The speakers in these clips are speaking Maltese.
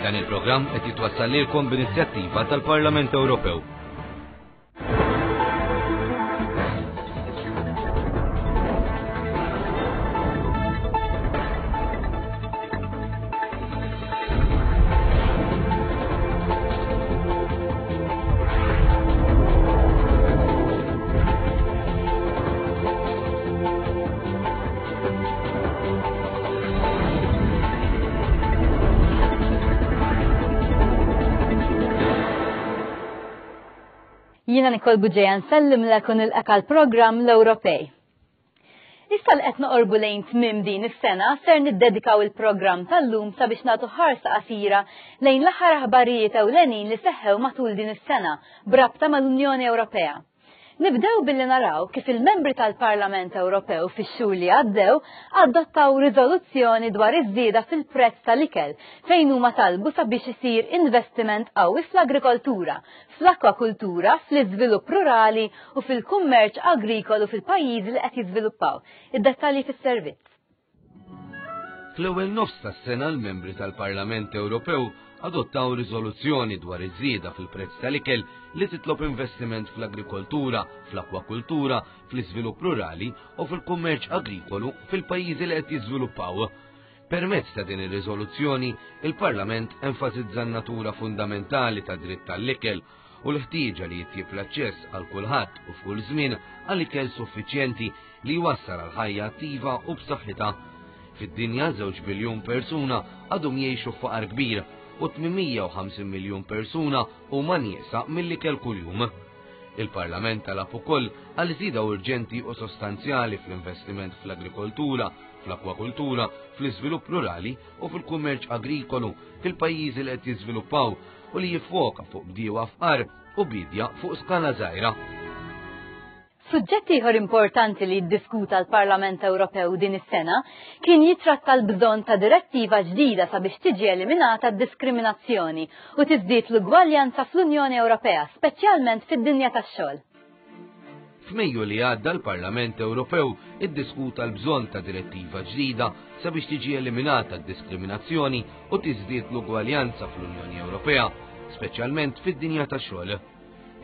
Dan il-programm qed jitwassal lilkom b'inizjattiva tal-Parlament Ewropew. Jiena Nicole Bugeja nsellimlek u nilqek għall-programm l-Ewropej. Issa li qed noqorbu lejn tmiem din is-sena ser niddedikaw il-programm tal-lum sabiex nagħtu ħarsa qasira lejn l-aħħar aħbarijiet ewlenin li seħħew matul din is-sena b'rabta mal-Unjoni Ewropea. Nibdew billi naraw kif il-membri tal-Parlament Ewropew fix-xhur li għaddew adottaw riżoluzzjoni dwar iż-żieda fil-prezz tal-ikel fejn huma talbu sabiex isir investiment qawwi fl-agrikoltura, fl-akwakultura, fl-iżvilupp rurali u fil-kummerċ agrikolu fil-pajjiżi li qed jiżviluppaw. Id-dettalji fis-servizz. Fl-ewwel nofs tas-sena l-membri tal-Parlament Ewropew adottaw riżoluzzjoni dwar iż-żieda fil-prezz tal-ikel li titlob investiment fl-agrikoltura, fl-akwakultura, fl-iżvilupp rurali u fil-kummerċ agrikolu fil-pajjiżi li qed jiżviluppaw. Permezz ta' din ir-riżoluzzjoni, il-Parlament enfasizza n-natura fundamentali ta' dritt tal-ikel u l-ħtieġa li jitjieb l-aċċess għal kulħadd u f'kull żmien għal ikel suffiċjenti li jwassal għal ħajja attiva u b'saħħitha. Fid-dinja żewġ biljun persuna għadhom jgħixu f'faqar kbir u 850 miljun persuna huma nieqsa mill-ikel kuljum. Il-Parlament talab ukoll għal żieda urġenti u sostanzjali fl-investiment fl-agrikoltura, fl-akwakultura, fl-iżvilupp rurali u fil-kummerċ agrikolu fil-pajjiżi li qed jiżviluppaw u li jiffoka fuq bdiewa fqar u biedja fuq skala żgħira. Suġġett ieħor importanti li ddiskuta l-Parlament Ewropew din is-sena kien jitratta l-bżonn ta' direttiva ġdida sabiex tiġi eliminata d-diskriminazzjoni u tiżdied l-ugwaljanza fl-Unjoni Ewropea, speċjalment fid-dinja tax-xogħol. F'Mejju li għadda l-Parlament Ewropew iddiskuta l-bżonn ta' direttiva ġdida sabiex tiġi eliminata d-diskriminazzjoni u tiżdied l-ugwaljanza fl-Unjoni Ewropea, speċjalment fid-dinja tax-xogħol.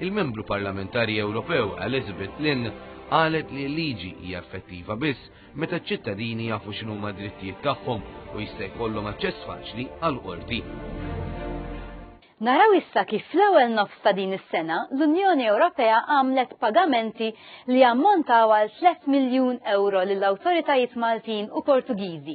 Il-Membru Parlamentari Ewropew Elizabeth Lynn qalet li l-liġi hija effettiva biss meta ċ-ċittadini jafu x'inhuma d-drittijiet tagħhom u jista' jkollhom aċċess faċli għal qorti. Naraw issa kif fl-ewwel nofs ta' din is-sena l-Unjoni Ewropea għamlet pagamenti li ammontaw għal 3 miljun euro lill-awtoritajiet Maltin u Portugiżi.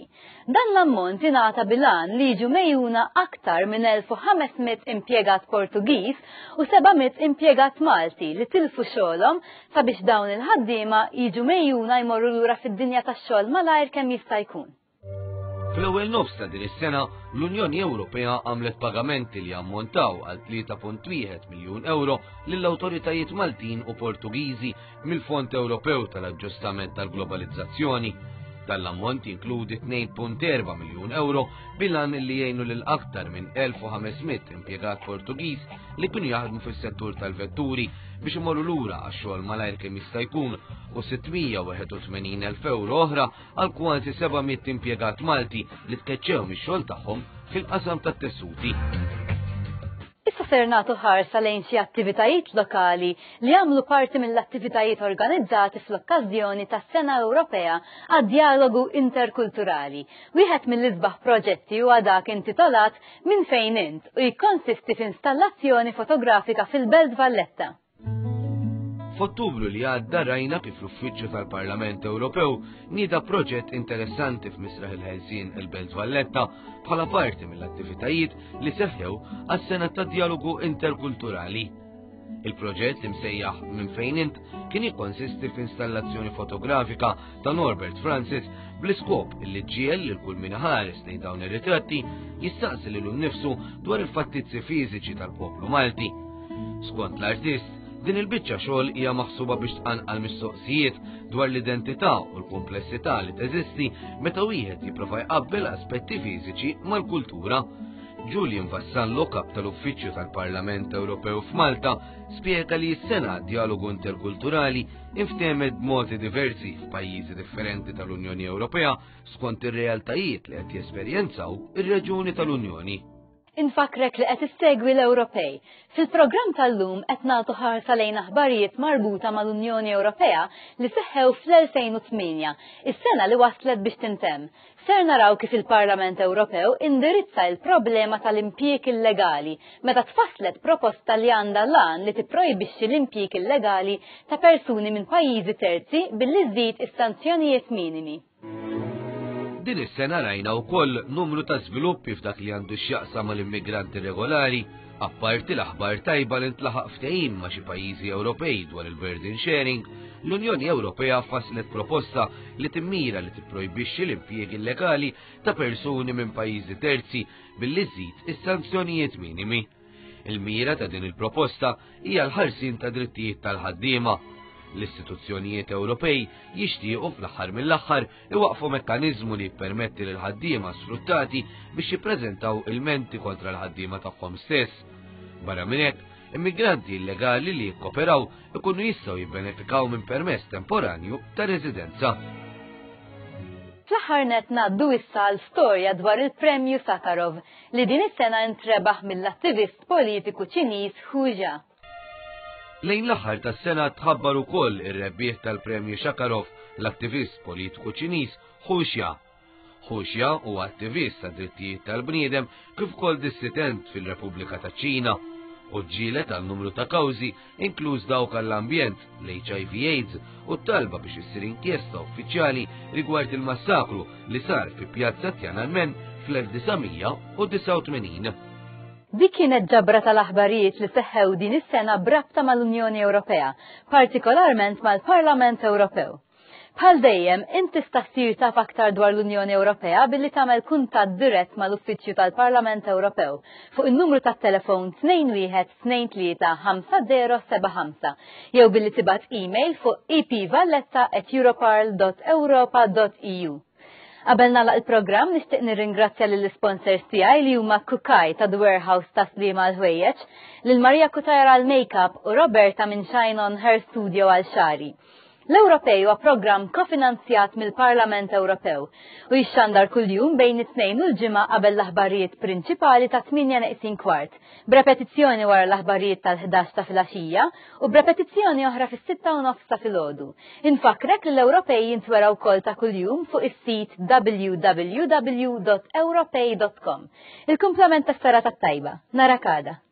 Dan l-ammont ingħata bil-għan li jiġu megħjuna aktar minn 1,500 impjegat Portugiż u 700 impjegat Malti li tilfu xogħolhom sabiex dawn il-ħaddiema jiġu megħjuna jmorru lura fid-dinja tax-xogħol malajr kemm jista' jkun. Fl-ewwel nofs ta' din is-sena, l-Unjoni Ewropea għamlet pagamenti li ammontaw għal 3.1 miljun euro lill-awtoritajiet Maltin u Portugiżi mill-Fond Ewropew tal-Aġġustament tal-Globalizzazzjoni. Dan l-ammont jinkludi 2.4 miljun euro bilan li jgħinu lil aktar minn 1500 impjegat Portugiż li kienu jaħdmu fis-settur tal-vetturi biex imorru lura għax-xogħol malajr kemm jista' jkun u 681,000 euro oħra għal kważi 700 impjegat Malti li tkeċċew mix-xogħol tagħhom fil-qasam tat-tessuti. Issa ser nagħtu ħarsa lejn xi attivitajiet lokali li jagħmlu parti mill-attivitajiet organizzati fl-okkażjoni tas-Sena Ewropea għad-Djalogu Interkulturali. Wieħed mill-isbaħ proġetti huwa dak intitolat Min fejn int u jikkonsisti f'installazzjoni fotografika fil-Belt Valletta. F'Ottubru li għadda rajna kif l-Uffiċċju tal-Parlament Ewropew nieda proġett interessanti f'Misraħ il-Ħelsien il-Belt Valletta bħala parti mill-attivitajiet li seħħew għas-sena ta' dialogu interkulturali. Il-proġett imsejjaħ Minn fejn int kien jikkonsisti f'installazzjoni fotografika ta' Norbert Francis bl-iskop li ġiel lil kull min ħares lejn dawn ir-ritratti jistaqsi lilu nnifsu dwar il-fattizzi fiżiċi tal-poplu Malti. Skont l-artist, din il-biċċa xogħol hija maħsuba biex tqanqal mistoqsijiet dwar l-identità u l-komplessità li teżisti meta wieħed jipprova jqabbel aspetti fiżiċi mal-kultura. Julian Vassallo, kap tal-Uffiċċju tal-Parlament Ewropew f'Malta, spjega li s-sena dialogu interkulturali inftemet b'modi diversi f'pajjiżi differenti tal-Unjoni Ewropea skont ir-realtajiet li qed jesperjenzaw ir-reġuni tal-Unjoni. Infakkrek li qed issegwi l-Ewropej. Fil-programm tal-lum qed nagħtu ħarsa lejn aħbarijiet marbuta mal-Unjoni Ewropea li seħħew fl-2008, is-sena li waslet biex tintemm. Ser naraw kif il-Parlament Ewropew indirizza il-problema tal-impjieg illegali meta tfasslet proposta li għandha l-għan li tipprojbixxi l-impjieg illegali ta' persuni minn pajjiżi terzi billi żżid is-sanzjonijiet minimi. Din is-sena rajna wkoll numru ta' żviluppi f'dak li għandu x'jaqsam mal-immigranti regolari, apparti l-aħbar tajba li ntlaħaq ftehim ma' xi pajjiżi Ewropej dwar il-burden sharing, l-Unjoni Ewropea fasslet proposta li timmira li tipprojbixxi l-impjieg illegali ta' persuni minn pajjiżi terzi billi żżid is-sanzjonijiet minimi. Il-mira ta' din il-proposta hija l-ħarsien ta' drittijiet tal-ħaddiema. L-istituzzjonijiet Ewropej jixtiequ fl-aħħar mill-aħħar iwaqfu mekkaniżmu li jippermetti lil ħaddiema sfruttati biex jippreżentaw ilmenti kontra l-ħaddiema tagħhom stess. Barra minn hekk, immigranti illegali li jikkoperaw ikunu jistgħu jibbenefikaw minn permess temporanju ta' residenza. Fl-aħħar nett ngħaddu issa għal storja dwar il-Premju Sakharov li din is-sena intrebaħ mill-attivist politiku Ċiniż Hu Jia. Lejn l-aħħar tas-sena tħabbar ukoll ir-rebbieħ tal-Premju Sakharov, l-attivist politiku Ċiniż Hu Jia. Hu Jia huwa attivist ta' drittijiet tal-bniedem kif ukoll dissident fil-Repubblika taċ-Ċina u ġġieled għal numru ta' kawżi inkluż dawk għall-ambjent, l-HIV AIDS u t-talba biex issir inkjesta uffiċjali rigward il-massakru li sar fi Pjazza Tiananmen fl-1989. Dik kienet ġabra tal-aħbarijiet li seħħew din is-sena b'rabta mal-Unjoni Ewropea, partikolarment mal-Parlament Ewropew. Bħal dejjem, int tista' ssir taf aktar dwar l-Unjoni Ewropea billi tagħmel kuntatt dirett mal-Uffiċċju tal-Parlament Ewropew fuq in-numru tat-telefon 2123 5075 jew billi tibgħat email fuq epvalletta@europarl.europa.eu. Qabel nagħlaq il-programm nixtieq nirringrazzja lill-isponsors tiegħi li huma Kukaj ta' The Warehouse ta' Sliema għal ħwejjeġ, lil Maria Cutajar għal makeup u Roberta minn Shine On Hair Studio għal xari. L-Ewropej huwa programm kofinanzjat mill-Parlament Ewropew u jixxandar kuljum bejn it-Tnejn u l-Ġimgħa qabel l-aħbarijiet prinċipali ta' 8 neqsin kwart, b'repetizzjoni wara l-aħbarijiet tal-11 ta' filgħaxija u b'repetizzjoni oħra fis-6 u nofs ta' filgħodu. Infakkrek li l-Ewropej jintwera wkoll ta' kuljum fuq is-sit www.ewropej.com. Il-kumplament tas-serata t-tajba. Narak għada.